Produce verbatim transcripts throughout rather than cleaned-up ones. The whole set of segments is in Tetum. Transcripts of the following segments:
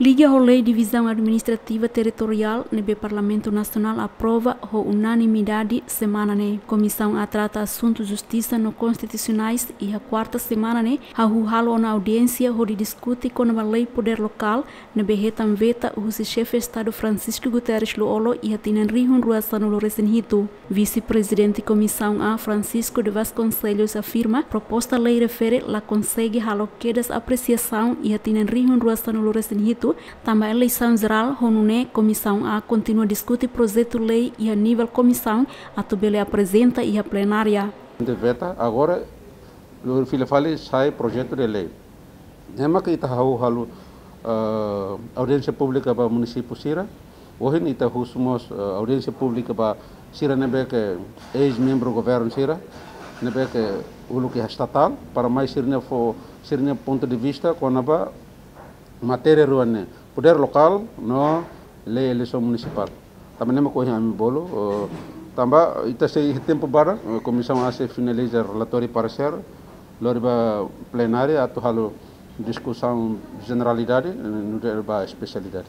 Liga ho Lei Divizaun Administrativa Territoriál ne'ebé Parlamentu Nasionál aprova ho unanimidade semana ne'e, Komisaun A trata asuntu justisa no konstitusionais iha kuarta semana ne'e hahú halo ona audiénsia hodi diskute kona-ba lei podér lokál ne'ebé hetan veta husi Xefe Estadu Francisco Guterres Lú-Olo iha tinan rihun rua sanulu resin hitu. Vise-Prezidente Komisaun A, Francisco de Vasconcelos, afirma proposta lei refere la konsege halo kedas apresiasaun iha tinan rihun rua sanulu resin hitu, tanba eleisaun jerál, ho nune'e Komisaun A kontinua diskute projetu lei iha nivel komisaun atu bele aprezenta iha plenária. De veta, agora lori fila fali sai projetu de lei. Ne'e mak ita hahú halo, eh, audiénsia públika ba munisípiu sira. Ohin ita husu mós, eh, audiénsia públika ba sira ne'ebé ke eis-membru governu sira, ne'ebé ke uluk iha estatál, para mai sira-nia fó, sira-nia pontu de vista kona-ba matéria rua ne'e, podér lokál no lei eleisaun munisipál. Tanba ne'e mak ohin ami bolu, eh, tanba ita sei iha tempu badak, eh, Komisaun A sei finaliza relatóriu paresér, lori ba plenária atu halo diskusaun jeneralidade, eh, nu'udar ba espesialidade.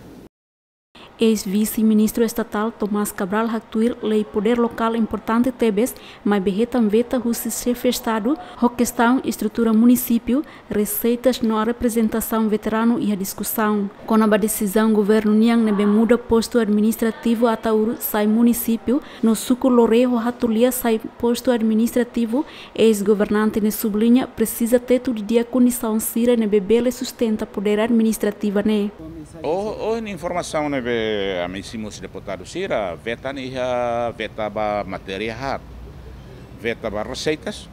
Eis-Vise-Ministru Estatál Tomás Cabral haktuir lei podér lokál importante tebes, maibé hetan veta husi Xefe Estadu, ho kestaun estrutura munisípiu, reseitas no reprezentasaun veteranu iha diskusaun. Kona-ba desizaun governu nian ne'ebé muda postu administrativu Ataúro sai munisípiu, no suku Loré ho Hatulia sai postu administrativu, eis-governante ne'e subliña presiza tetu didi'ak kondisaun sira ne'ebé bele sustenta podér administrativa ne'e. Oh, oh, ne'e informasaun ne'ebé ami simu husi deputadu sira, veta ne'e iha veta ba matéria haat, veta ba reseitas,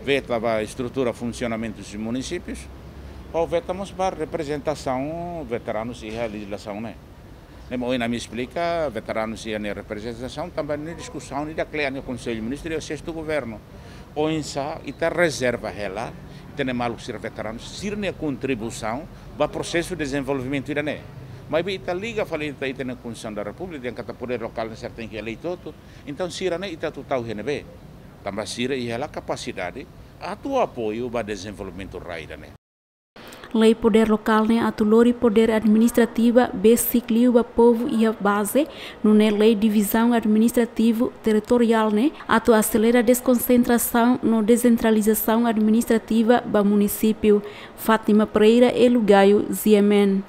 veta ba estrutura funsionamentu husi munisípius, ho veta mós ba reprezentasaun veteranus iha lejizlasaun ne'e. Ne'e mak ohin ami esplika, veteranus iha ne'e reprezentasaun, tanba ne'e diskusaun ida kle'an iha Konsellu Ministru iha sestu governu. Oinsá ita rezerva hela ita-nia maluk sira veteranus sira-nia kontribuisaun ba prosesu dezenvolvimentu ida-ne'e. Maibé ita liga fali ita, ita-nia Konstituisaun da Repúblika, dehan katak podér lokál ne'e sira tenke elei hotu. Entaun sira-ne'e ita atu tau iha ne'ebé? Tanba sira iha hela kapasidade atu apoiu ba dezenvolvimentu rai ida-ne'e. Lei podér lokál ne'e atu lori podér administrativa besik liu ba povu iha baze, nune'e lei divizaun administrativu territoriál ne'e atu aselera deskonsentrasaun no desentralizasaun administrativa ba munisípiu. Fátima Pereira, Elu Gayo, G M N.